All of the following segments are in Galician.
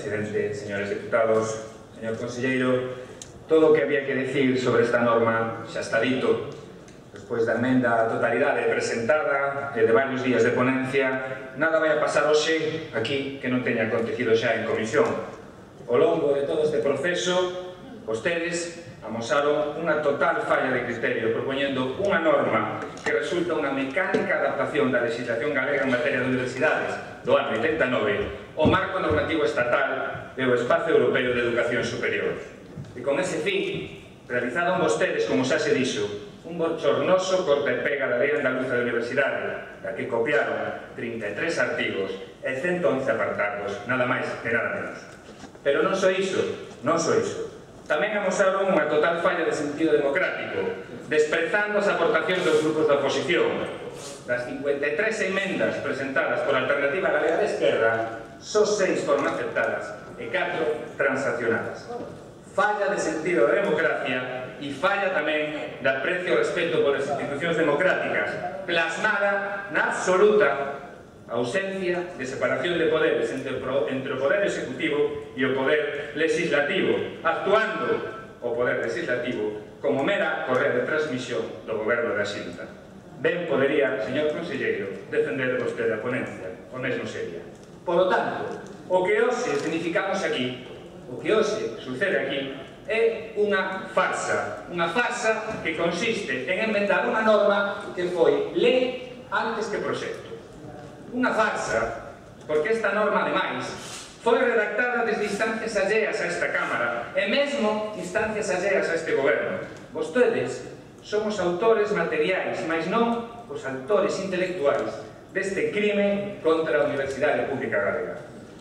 presidente, señores diputados, señor conselleiro, todo o que había que decir sobre esta norma xa está dito. Despois da emenda á totalidade presentada e de varios días de ponencia, nada vai a pasar hoxe aquí que non teña acontecido xa en comisión. Ao longo de todo este proceso, vostedes amosaron unha total falla de criterio, propoñendo unha norma que resulta unha mecánica adaptación da legislación galega en materia de universidades do ano 89 ao marco normativo estatal e ao espazo europeo de educación superior. E con ese fin, realizaron vostedes, como xa se dixo, un bochornoso corta e pega da Lei Andaluza de Universidade, da que copiaron 33 artigos e 111 apartados, nada máis e nada menos. Pero non só iso, non só iso. Tamén amosaron unha total falla de sentido democrático, desprezando as aportacións dos grupos da oposición. Das 53 emendas presentadas por Alternativa Galega de Esquerra, só 6 foron aceptadas e 4 transaccionadas. Falla de sentido de democracia e falla tamén de aprecio e respeto polas institucións democráticas, plasmada na absoluta ausencia de separación de poderes entre o poder executivo e o poder legislativo, actuando o poder legislativo como mera correa de transmisión do goberno da Xunta. Ben podería, señor conselleiro, defender vostede a ponencia, o mesmo sería. Por lo tanto, o que hoxe significamos aquí, o que hoxe sucede aquí, é unha farsa que consiste en enmendar unha norma que foi lei antes que proxecto. Unha farsa, porque esta norma, ademais, foi redactada desde instancias alleas a esta Cámara e mesmo instancias alleas a este goberno. Vostedes son os autores materiais, mas non os autores intelectuais deste crime contra a Universidade Pública Galega.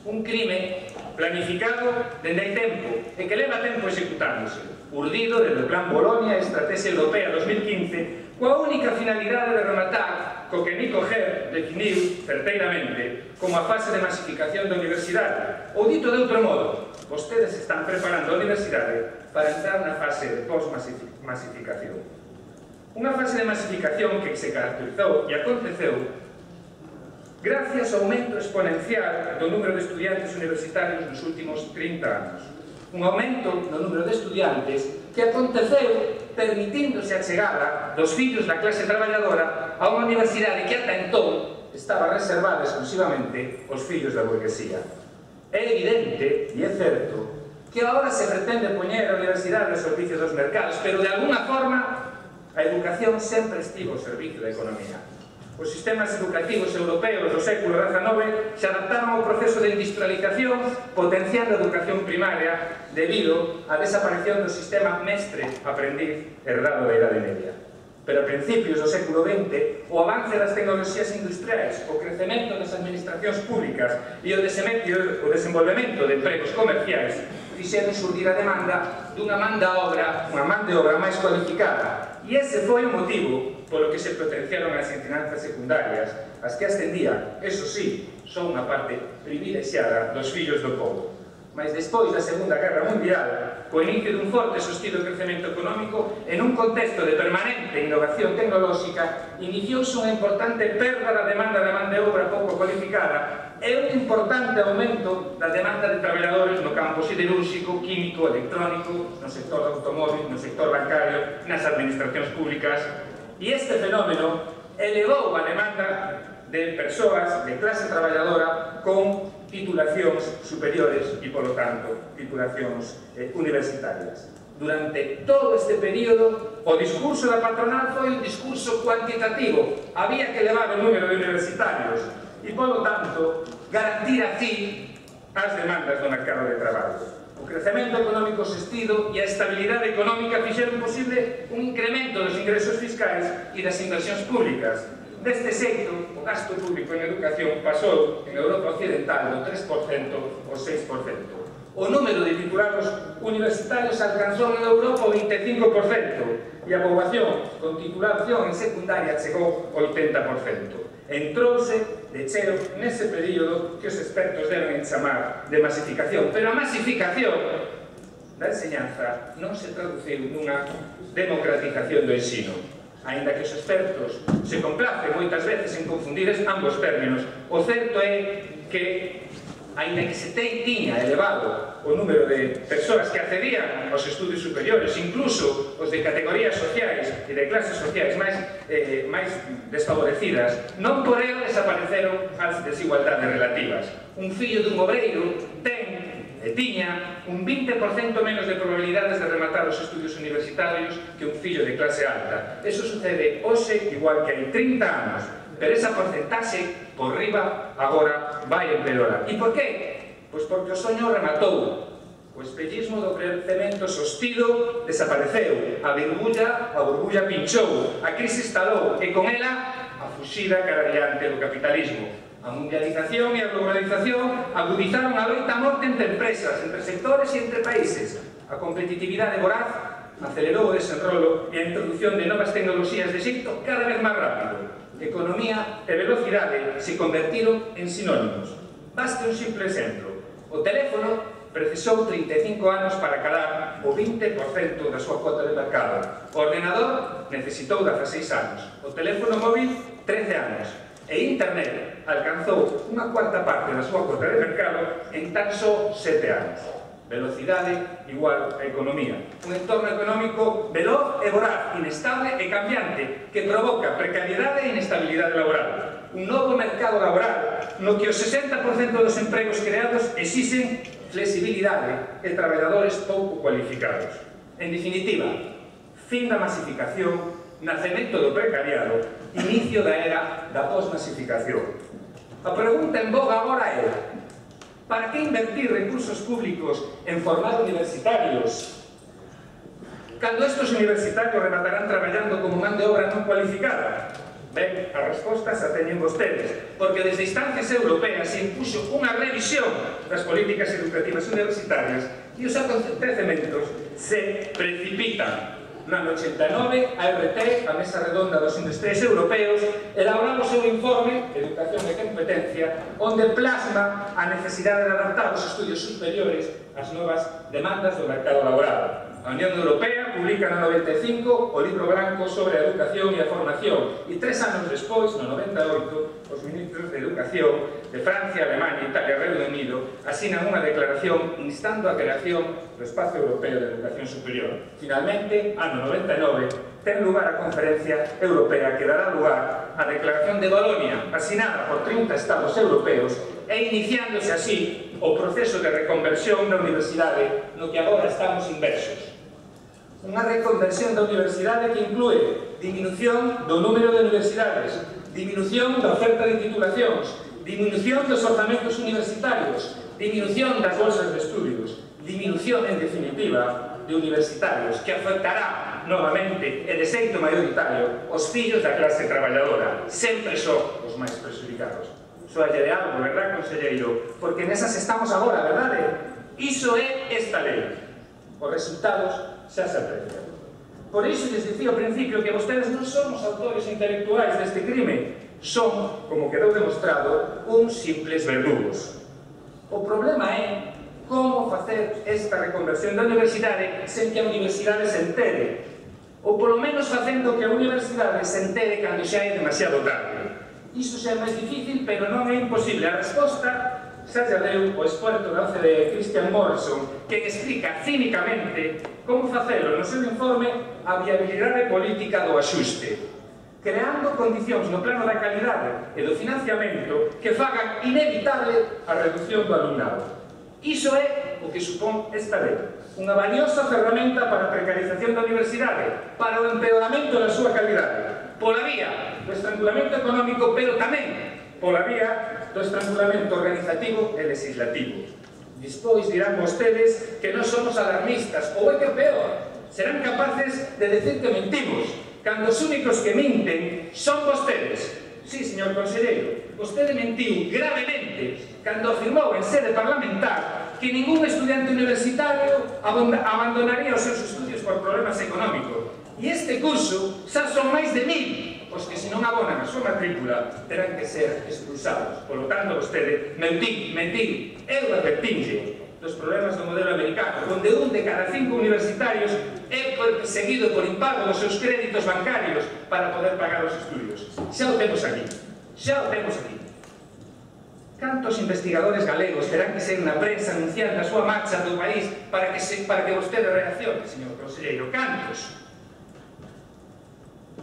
Un crime planificado dende hai tempo e que leva tempo executándose, urdido desde o Plan Bolonia e Estrategia Europea 2015, coa única finalidade de rematar co que Nico Ger definiu certeiramente como a fase de masificación da universidade. Ou dito de outro modo, vostedes están preparando a universidade para entrar na fase de post-masificación. Unha fase de masificación que se caracterizou e aconteceu gracias ao aumento exponencial do número de estudiantes universitarios nos últimos 30 anos. Un aumento no número de estudiantes que aconteceu permitíndose a chegada dos fillos da clase traballadora a unha universidade que ata entón estaba reservada exclusivamente aos fillos da burguesía. É evidente, e é certo, que agora se pretende poñer a universidade ao servicio dos mercados, pero de alguna forma a educación sempre estivo ao servicio da economía. Os sistemas educativos europeos do século XIX se adaptaron ao proceso de industrialización, potenciando a educación primaria debido á desaparición do sistema mestre-aprendiz herdado da Idade Media. Pero a principios do século XX, o avance das tecnoloxías industriais, o crecemento das administracións públicas e o desenvolvemento de empregos comerciais fixeron xurdir a demanda dunha man de obra máis cualificada. E ese foi o motivo polo que se potenciaron as ensinanzas secundarias, as que ascendían, eso sí, son unha parte privilexiada dos fillos do povo. Mas despois da Segunda Guerra Mundial, co inicio dun forte sostido crecemento económico, en un contexto de permanente innovación tecnolóxica, iniciouse unha importante perda da demanda de man de obra pouco cualificada e un importante aumento da demanda de traballadores no campo siderúrxico, químico, electrónico, no sector do automóvil, no sector bancario, nas administracións públicas. E este fenómeno elevou a demanda de persoas de clase traballadora con titulacións superiores e, polo tanto, titulacións universitarias. Durante todo este período, o discurso da patronal foi un discurso cuantitativo. Había que elevar o número de universitarios e, polo tanto, garantir así as demandas do mercado de traballo. O crecemento económico sostido e a estabilidade económica fixeron posible un incremento dos ingresos fiscais e das inversións públicas. Deste xeito, o gasto público en educación pasou en Europa Occidental do 3% ao 6%. O número de titulados universitarios alcanzou en Europa o 25% e a poboación con titulación en secundaria chegou ao 80%. Entrouse de cheo nese período que os expertos deben chamar de masificación. Pero a masificación da enseñanza non se traduciu nunha democratización do ensino. Ainda que os expertos se complacen moitas veces en confundir ambos términos, o certo é que aínda que se tiña elevado o número de persoas que accedían aos estudios superiores, incluso os de categorías sociais e de clases sociais máis desfavorecidas, non por ello desapareceron as desigualdades relativas. Un fillo dun obreiro tiña un 20% menos de probabilidades de rematar os estudios universitarios que un fillo de clase alta. Eso sucede hoxe igual que hai 30 anos, pero esa porcentaxe por riba agora vai empeorar. E por qué? Pois porque o soño rematou. O espellismo do crecemento sostido desapareceu, a burbulla pinchou, a crise estalou e con ela a fuxida cara adiante do capitalismo. A mundialización e a globalización agudizaron a loita a morte entre empresas, entre sectores e entre países. A competitividade voraz acelerou o desenrolo e a introducción de novas tecnoloxías de xeito cada vez máis rápido. Economía e velocidade se convertiron en sinónimos. Baste un simple exemplo. O teléfono precisou 35 anos para calar o 20% da súa cuota de mercado. O ordenador necesitou 16 anos. O teléfono móvil, 13 anos. E Internet alcanzou unha cuarta parte da súa cuota de mercado en tan só 7 anos. Velocidade igual a economía. Un entorno económico veloz e voraz, inestable e cambiante, que provoca precariedade e inestabilidade laboral. Un novo mercado laboral no que o 60% dos empregos creados exixen flexibilidade e traballadores pouco cualificados. En definitiva, fin da masificación, nacemento do precariado, inicio da era da posmasificación. A pregunta en boga agora é: para que invertir recursos públicos en formar universitarios cando estes universitarios rematarán traballando como man de obra non cualificada? Ben, as respostas a teñen vostedes, porque desde instancias europeas se impuxo unha revisión das políticas educativas universitarias e os acontecementos se precipitan. No ano 89, a RT, a Mesa Redonda dos Industriais Europeos, elaboraba o seu informe Educación e Competencia, onde plasma a necesidade de adaptar os estudios superiores ás novas demandas do mercado laboral. A Unión Europea publica no 95 o Libro Branco sobre a Educación e a Formación e 3 anos despois, no 98, os ministros de Educación de Francia, Alemania, Italia e Reino Unido asinan unha declaración instando a creación do Espacio Europeo de Educación Superior. Finalmente, ano 99, ten lugar a Conferencia Europea que dará lugar á Declaración de Bolonia, asinada por 30 Estados europeos e iniciándose así o proceso de reconversión da universidade no que agora estamos inversos. Unha reconversión da universidade que inclúe diminución do número de universidades, diminución da oferta de titulacións, diminución dos orzamentos universitarios, diminución das bolsas de estudios, diminución, en definitiva, de universitarios, que afectará novamente e de xeito maioritario os fillos da clase traballadora, sempre son os máis perxudicados. Soalle de algo, verdad, conselleiro? Porque nesas estamos agora, verdade? Iso é esta lei. Os resultados xa se aprecian. Por iso lles dicía ao principio que vostedes non son os autores intelectuais deste crime, son, como quedou demostrado, uns simples verdugos. O problema é como facer esta reconversión da universidade sen que a universidade se entere, ou polo menos facendo que a universidade se entere cando xa é demasiado tarde. Iso xa é máis difícil, pero non é imposible. A resposta xa lle deu o experto da OCDE, Christian Morrison, que explica cínicamente como facelo no seu informe a viabilidade política do axuste, creando condicións no plano da calidade e do financiamento que fagan inevitable a reducción do alumnado. Iso é o que supón esta lei, unha valiosa ferramenta para a precarización da universidade, para o empeoramento da súa calidade, pola vía do estrangulamento económico, pero tamén pola vía do estrangulamento organizativo e legislativo. Despois dirán vostedes que non somos alarmistas, ou é que peor, serán capaces de decir que mentimos, cando os únicos que minten son vostedes. Sí, señor conselleiro, vostede mentiu gravemente cando afirmou en sede parlamentar que ningún estudiante universitario abandonaría os seus estudios por problemas económicos. E este curso xa son máis de 1000 os que se non abonan a súa matrícula terán que ser expulsados. Por lo tanto, vostede mentiu. Eu advertinlle dos problemas do modelo americano, onde un de cada 5 universitarios é perseguido por impago dos seus créditos bancarios para poder pagar os estudios. Xa o temos aquí. Cantos investigadores galegos terán que ser na prensa anunciando a súa marcha do país para que vostede reaccione, señor conselleiro? Cantos?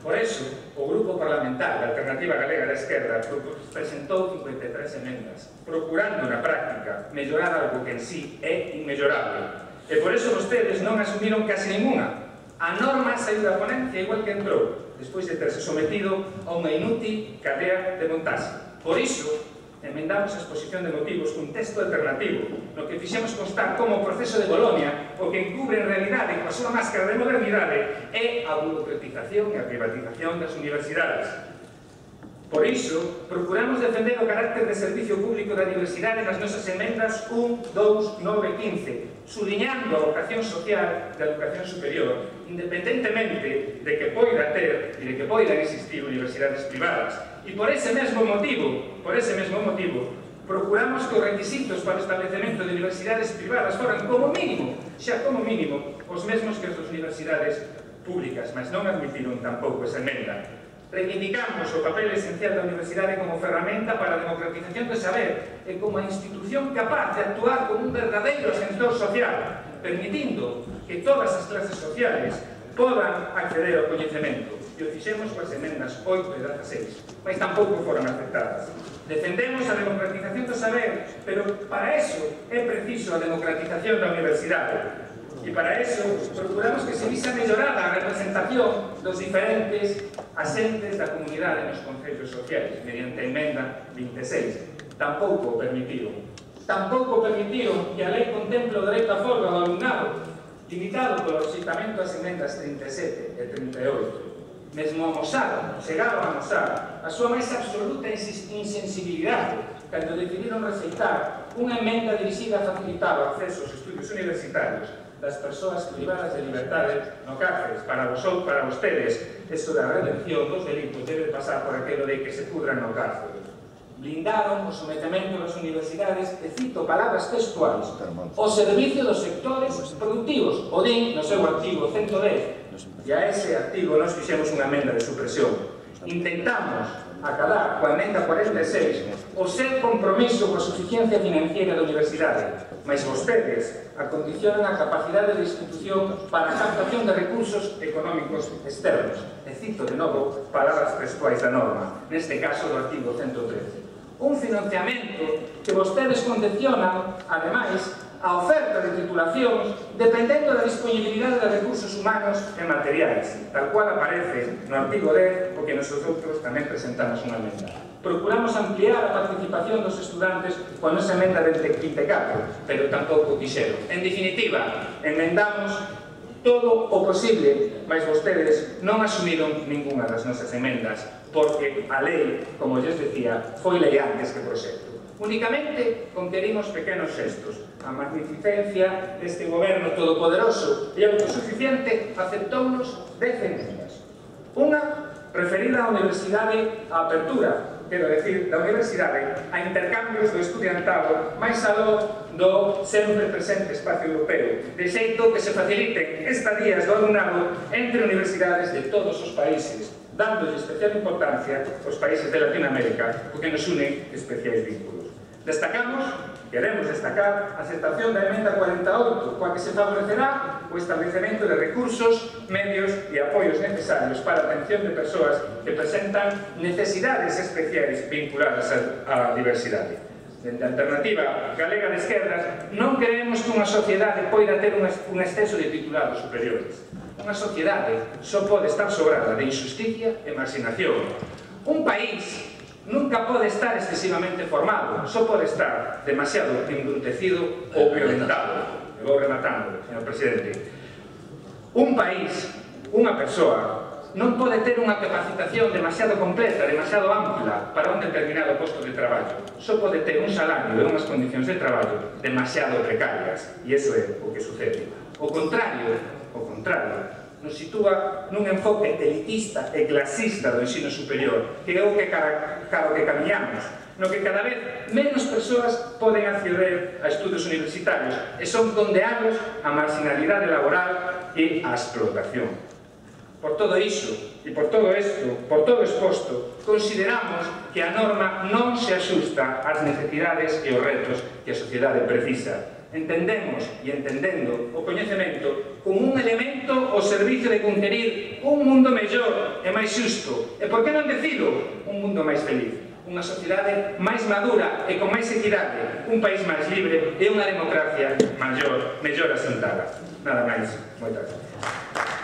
Por eso, o Grupo Parlamentario da Alternativa Galega da Esquerda presentou 53 emendas, procurando na práctica mellorar algo que en sí é inmellorable. E por eso vostedes non asumiron casi ninguna. A norma saiu da ponencia igual que entrou, despois de terse sometido a unha inútil cadea de montaxe. Por iso, emendamos a exposición de motivos cun texto alternativo, no que fixemos constar como o proceso de Bolonia, o que encubre en realidade coa súa máscara de modernidade, é a burocratización e a privatización das universidades. Por iso, procuramos defender o carácter de servicio público da universidade nas nosas emendas 1, 2, 9 e 15, subliñando a vocación social da educación superior, independentemente de que poida ter e de que poidan existir universidades privadas. E por ese mesmo motivo, procuramos que os requisitos para o establecemento de universidades privadas foran como mínimo, os mesmos que as das universidades públicas, mas non admitiron tampouco esa emenda. Reivindicamos o papel esencial da universidade como ferramenta para a democratización do saber e como a institución capaz de actuar como un verdadeiro ascensor social, permitindo que todas as clases sociales podan acceder ao coñecemento. E o fixemos coas emendas 8 e 16, mas tampouco foron aceptadas. Defendemos a democratización do saber, pero para eso é preciso a democratización da universidade. E para eso procuramos que se visa mellorada a representación dos diferentes asentes da comunidade nos concellos sociais, mediante a emenda 26. Tampouco o permitiron. Tampouco permitiron que a lei contemple o dereito a folga do alumnado, limitado polo rexeitamento das emendas 37 e 38. Mesmo amosaron, chegaron a amosar a súa máis absoluta insensibilidade cando decidiron rexeitar unha emenda dirixida a facilitar o acceso aos estudios universitarios das persoas privadas de liberdade no cárceles. Para vostedes, eso da redención dos delitos debe pasar por aquilo de que se pudran no cárcel. Blindaron o sometemento das universidades, e cito palabras textuais, o servicio dos sectores productivos, o din no seu artigo 110, e a ese artigo nós fixemos unha emenda de supresión. Intentamos acadar coa emenda 46 o seu compromiso coa suficiencia financiera da universidade, mas vostedes acondicionan a capacidade de institución para a captación de recursos económicos externos. E cito de novo palabras textuais da norma, neste caso do artigo 113. Un financiamento que vostedes condicionan, ademais, a oferta de titulacións dependendo da disponibilidade de recursos humanos e materiais, tal cual aparece no artigo 10, o que nosotros tamén presentamos unha emenda. Procuramos ampliar a participación dos estudantes coa nosa emenda 24, pero tampouco quixeron. En definitiva, emendamos todo o posible, mas vostedes non asumiron ninguna das nosas emendas, porque a lei, como lles decía, foi lei antes que proxecto. Únicamente conquerimos pequenos xestos. A magnificencia deste goberno todopoderoso e autosuficiente aceptounos 10 emendas. Unha referida á universidade a apertura, quero decir, da universidade a intercambios do estudiantado máis aló do sempre presente espacio europeo, de xeito que se faciliten estadías do alumnado entre universidades de todos os países, dándolle especial importancia aos países de Latinoamérica, o que nos une especiais vínculos. Queremos destacar a aceptación da emenda 48, coa que se favorecerá o establecemento de recursos, medios e apoios necesarios para a atención de persoas que presentan necesidades especiais vinculadas á diversidade. Dende a Alternativa Galega de Esquerdas, non creemos que unha sociedade poida ter un exceso de titulados superiores. Unha sociedade só pode estar sobrada de injusticia e marxinación. Un país nunca pode estar excesivamente formado, só pode estar demasiado embrutecido ou violentado. E vou rematando, señor presidente. Un país, unha persoa, non pode ter unha capacitación demasiado completa, demasiado ampla para un determinado posto de traballo. Só pode ter un salario e unhas condicións de traballo demasiado precarias. E iso é o que sucede. O contrario, nos sitúa nun enfoque elitista e clasista do ensino superior, que é o que caro que camiñamos, no que cada vez menos persoas poden acceder a estudos universitarios e son condeados á marginalidade laboral e á explotación. Por todo iso, e por todo isto, por todo exposto, consideramos que a norma non se axusta ás necesidades e os retos que a sociedade precisa. Entendemos e entendendo o coñecemento como un elemento ao servicio de conquerir un mundo mellor e máis xusto. E por que non decido un mundo máis feliz? Unha sociedade máis madura e con máis equidade, un país máis libre e unha democracia mellor asentada. Nada máis. Moitas gracias.